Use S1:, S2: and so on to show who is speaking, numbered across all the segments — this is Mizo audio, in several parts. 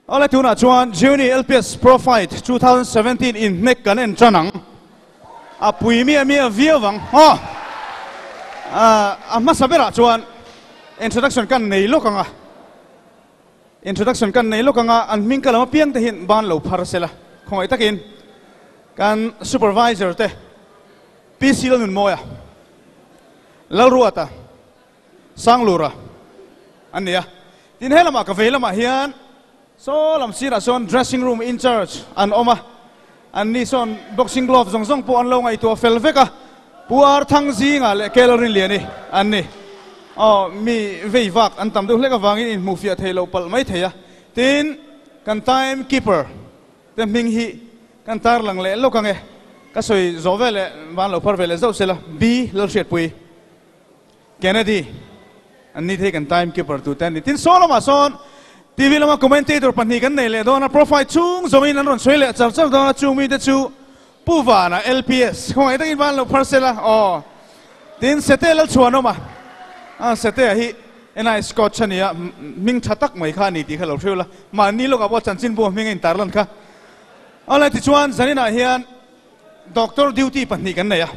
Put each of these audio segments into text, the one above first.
S1: Awle tunah chuan Juni LPS Pro Fight 2017 inhnek kan en tan ang. A pui miah miah viau ang. Aw! A hmasa berah chuan introduction kan nei lawk ang a. Introduction kan nei lawk ang a, an hming ka lam apiang te hian ban lo phar sela. Khawngaih takin kan supervisor te PC Lalnunmawia, Lalruata, Sanglura an ni a. Tin he lamah ka vei lamah hian saw lam sirah sawn dressing room in charge an awm a, an ni sawn boxing glove zawng zawng pawh an lo ngaihtuah fel vek a, Pu Ar Thang Zinga leh Kel Rinliani an ni. Aw, mi vei vak an tam deuh hlek avangin inhmuh fiah thei loh palh mai thei a. Tin, kan time keeper te hming hi kan tarlang leh lawk ang e. Ka sawi zawh veleh van lo phar veleh zauh sela, B Lalhriatpui. Kennedy, An ni thei kan time keeper tu te an ni. Tin saw lamah sawn TV lama commentator pahnih kan nei leh dawn a, profile chhung zawngin an rawn sawi leh char char dawn a, chung mite chu Pu Vana, LPS, khawngaih takin van lo phar sela aw. Tin Sete Lalchhuanawm a, a Sete-a hi NI Scotch a nia, hming tha tak mai kha a ni tih kha lo hriu la, mahni lawkah pawh chanchinbu hming a intarlan kha. Awle tichuan zaninah hian Doctor duty pahnih kan nei a.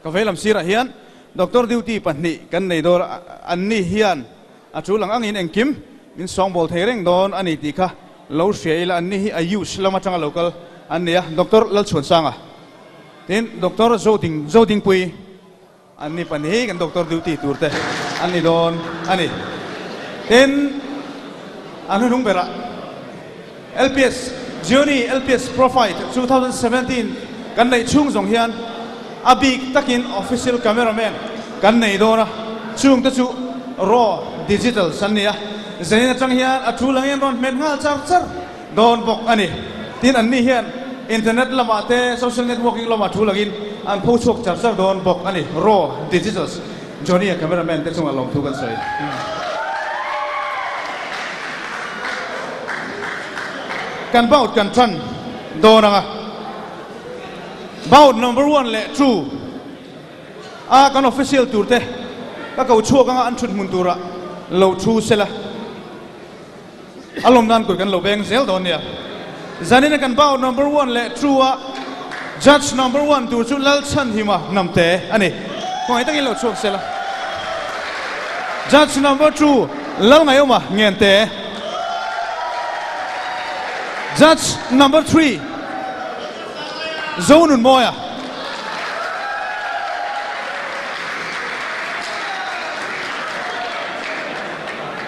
S1: Ka vei lam sirah hian Doctor duty pahnih kan nei dawn a, anni hian a tul ang angin engkim min sawngbawl thei reng dawn a ni tih kha lo hria ila, anni hi Ayush lam atanga lo kal an ni a, Doctor Lalchhuansanga tin Doctor Zoding Zodingpui anni pahnih hi kan Doctor duty tur te an ni dawn a ni. Tin, a hnuhnung berah LPS Gionee LPS Pro Fight 2017 kan neih chhung zawng hian a bik takin official cameraman kan nei dawn a, chung te chu raw digitals an ni a, zanin atang hian a thu langin rawn hmet nghal char char dawn bawk a ni. Tin, anni hian internet lamah te social networking lamah thu langin an pho chhuak char char dawn bawk a ni, raw digitals. Johnny-a cameraman te chungah lawmthu kan sawi. Kan bout kan tan dawn ang a, bout number one leh two a kan official tur te ka ko chhuak anga an thut hmun turah lo thu sela a lawm nan kut kan lo beng zel dawn nia. Zanin a kan bout number one leh two a judge number one tur chu Lalchhanhima Hnamte a ni. Khawngaih takin lo chhuak sela. Judge number two Lalngaiawma Ngente. Judge number three Zonunmawia.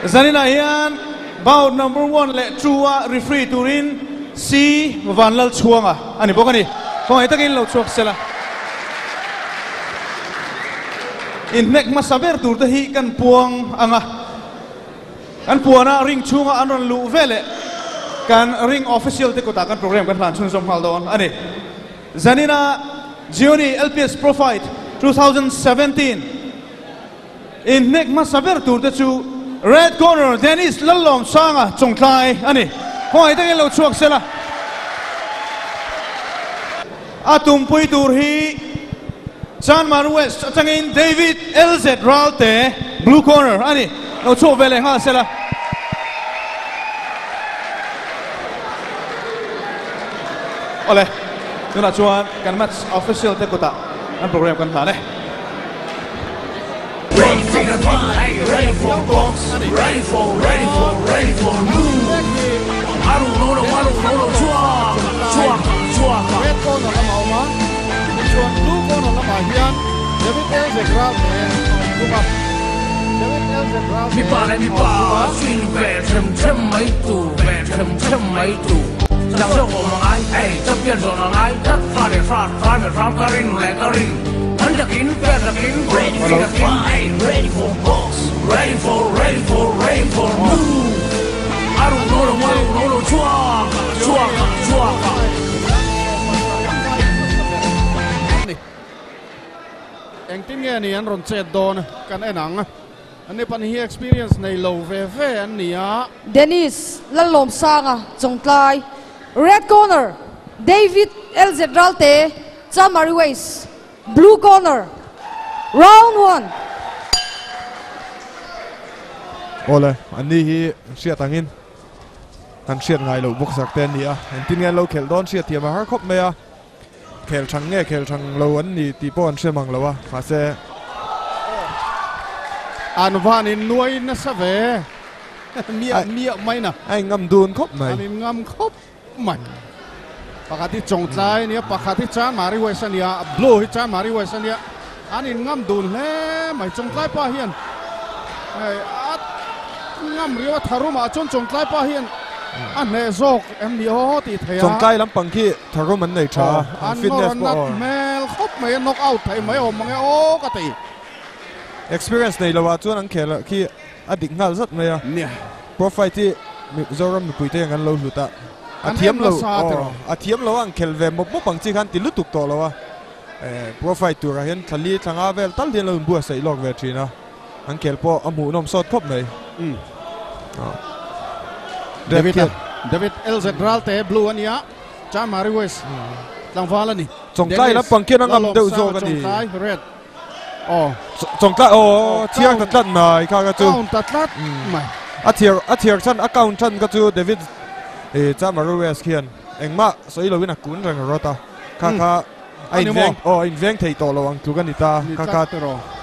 S1: Zaninah hian bout number one leh two a referee turin C Vanlalchhuanga a ni bawk a ni. Khawngaih takin lo chhuak sela. Inhnek hmasa ber tur te hi kan puang ang a. Kan puana ring chhunga an rawn luh veleh kan ring official te kutah kan program kan hlan chhunzawm nghal dawn a ni. Zanina Gionee LPS Pro Fight 2017 inhnek hmasa ber tur te chu Red Corner Dennis Lallawmsanga Chawngtlai a ni. Khawngaih takin lo chhuak sela. A tumpui tur hi Chanmar West atangin David LZ Ralte, Blue Corner, a ni. Lo chhuak ve leh nghal sela. Awle, tunah chuan kan match official te kutah kan program kan hlan e.
S2: Red corner lamah a awm a, tichuan blue corner lamah hian David Elzek Ralte a awm thung a, David Elzek Ralte a awm thung a. Engtin nge ni an rawn chet dawn kan en ang. Anni pahnih hi experience nei lo ve ve an ni a.
S3: Dennis Lallawmsanga Chawngtlai, Red Corner, David LZ Ralte, Chamari West, Blue Corner, Round one.
S4: Awle, anni hi hriat angin Kan hriat ngai loh boxer te an ni a, engtin nge an lo khelh dawn hriat thiam a har khawp mai a, khel thang nge khel thang lo an ni tih pawh an hre mang lo a, mahse.
S2: An van in nuai nasa ve miah miah mai na.
S4: A in ngam dun khawp mai.
S2: An in ngam khawp mai. Pakhat hi Chawngtlai a nia, pakhat hi Chanmari West a nia, Blue hi Chanmari West a nia, an in ngam dun hle mai. Chawngtlai pa hian a ngam riau a, tharum ah chuan Chawngtlai pa hian a hneh zawk em ni aw tih theih a.
S4: Chawngtlai lampang khi tharum an nei tha a, an fitness pawh
S2: aw. An nawr hmel khawp mai a, knock out thei mai awm mange aw ka ti.
S4: Experience nei lo ah chuan an khel khi a dik nghal zat mai a.
S2: Nia.
S4: Pro fight hi Mizoram mipuite hian kan lo hlut a, a thiam lo aw a thiam lo a an khel ve mawp mawp ang chi khan ti lutuk tawh lo a, pro fight turah hian thla li thla nga vel tal hian lo inbuatsaih lawk ve thin a, an khel pawh a hmuhnawm sawt khawp mai.
S2: David David LZ Ralte blue a nia, Chanmari West tlangval a ni.
S4: Chawngtlai lampang khian a ngam deuh zawk a ni.
S2: Chawngtlai red. Aw.
S4: Chawngtlai aw thiang ta tlat mai kha ka chu.
S2: Count ta tlat mai.
S4: A thiar a thiar chan a count chan ka chu David eh Chamaru West khian engmah sawi loin a kun reng rawt a. Kha kha a in veng aw a in veng thei tawh lo ang tluk a ni ta. Kha kha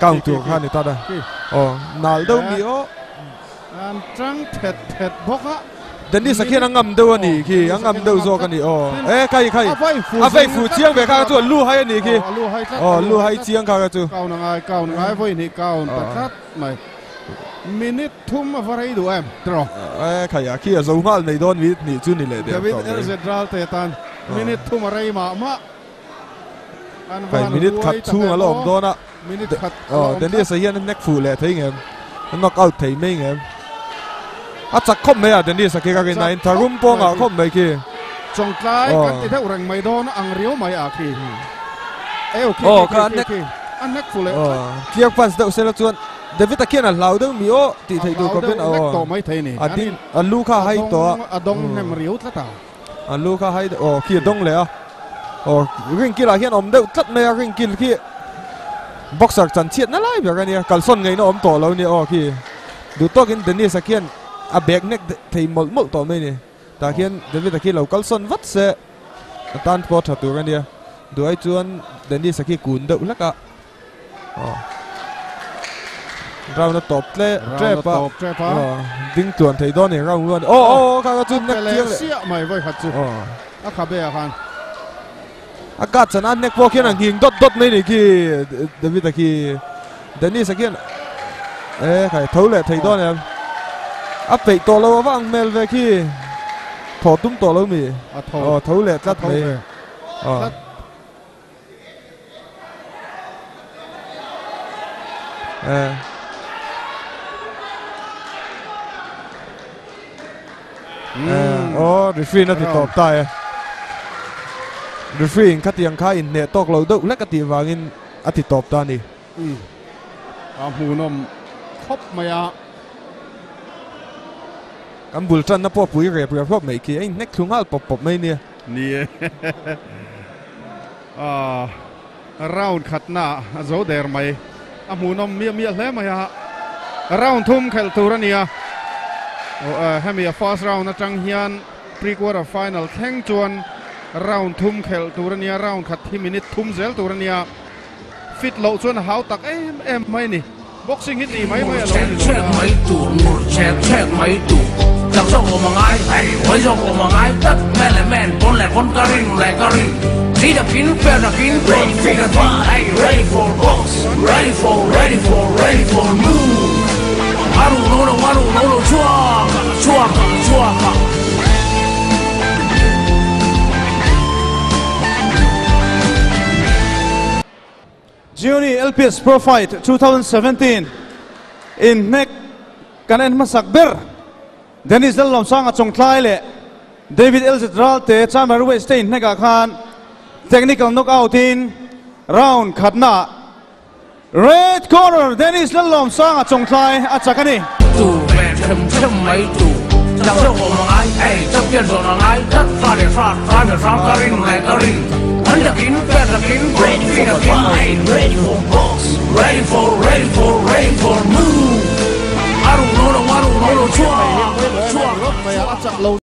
S4: count tur kha a ni ta da. Aw nal deuh mi aw.
S2: An tang thet thet bawk a.
S4: Dennis a khian a ngam deuh a nih khi, a ngam deuh zawk a ni aw. E khai khai, a vei fu chiang ve kha kha chu a lu hai a nih khi. Aw lu hai chiang kha kha chu.
S2: Kaun a ngai, kaun a ngai vawi hnih kaun ta tlat mai. Minute thum a va rei duh em tiraw?
S4: E khai a khi a zo nghal nei dawn minute hnih chu ni leh der tawh mai.
S2: David LZ Ralte tan minute thum a rei mah mah. An
S4: van minute khat chhung a la awm dawn a.
S2: Minute khat a la awm
S4: tlat. Dennis a hian a hnek fuh leh thei ngem? A knock out thei mai ngem? A chak khawp mai a Dennis a khi ka rin a in tharum pawh ngah khawp mai khi.
S2: Chawngtlai kan ti deuh reng mai dawn ang riau mai a khi. Eu khi khi khi khi a hnek fuh leh tlat.
S4: Clear punch deuh sela chuan David a khian a hlau deuh mi aw tih theih tur khawpin
S2: a
S4: a ding a lu kha a hai tawh a.
S2: A dawng hnem riau tlat a.
S4: A lu kha hai aw khi a dawng leh a aw ring kil ah hian awm deuh tlat mai a ring kil khi boxer chan chhiat na lai ber a nia kalsawn ngaihna awm tawh lo a nia aw khi duh tawkin Dennis a khian a bag nek thei mawlh mawlh tawh mai a ni tah khian David a khi lo kalsawn vat se a tan pawh tha tur a nia duh ai chuan Dennis a khi kun deuh hlek a. Round a tawp tle tep a ding tluan thei dawn ni round luan aw aw kha kha chu nek chiang leh
S2: siah mai vawi khat chu a kha be ah khan
S4: a kat chan a nek pawh khian a nghing dawt dawt mai ni khi David a khi Dennis a khian e khai tho leh thei dawn em a peih tawh lo avang hmel ve khi thaw tum tawh lo mi aw tho leh tlat mai aw. Aw referee na ti tawp ta e. Referee in khatiang kha in hneh tawk lo deuh hlek a tih vangin a ti tawp ta a ni.
S2: A hmuhnawm khawp mai a.
S4: Kan bul tanna pawh pui rep rep hlawp mai khi a inhnek thlu nghal pawp pawp mai nia.
S2: Ni e. Round khatna a zo der mai. A hmuhnawm miah miah hle mai a. Round thum khelh tur a ni a. Hemi a first round atang hian pre-quarter final thleng chuan round thum khelh tur a ni a. Round khat hi minute thum zel tur a ni a. Fit loh chuan a hau tak em em mai a ni. Boxing hi tih mai mai a lo ni lo na.
S5: Mai tur ngur chek chek mai tur chak zawk awm a ngai hei huai zawk awm a ngai tlat man leh man pawn leh pawn ka ring leh ka ring thi takin fair takin ready for the fight hey ready for box ready for ready for ready for move a ruh lo lo a ruh lo lo chhuak a chhuak a chhuak a.
S1: Gionee LPS Pro Fight 2017 inhnek kan en hmasak ber Dennis Lalnuamsanga Chawngtlai leh David LZ Ralte Chamber West te inhnekah khan technical knockout in round khatnaah Red corner Dennis Lalnuamsanga Chawngtlai a chak a ni.
S5: Tu ve them them mai tu chak zawk awm a ngai hei champion zawn a ngai tlat fa leh fa fa leh hrang ka ring leh ka ring an takin fair takin ready for the fight ready for box ready for ready for ready for move a ruh lo lo a ruh lo lo chhuak chhuak
S2: chhuak.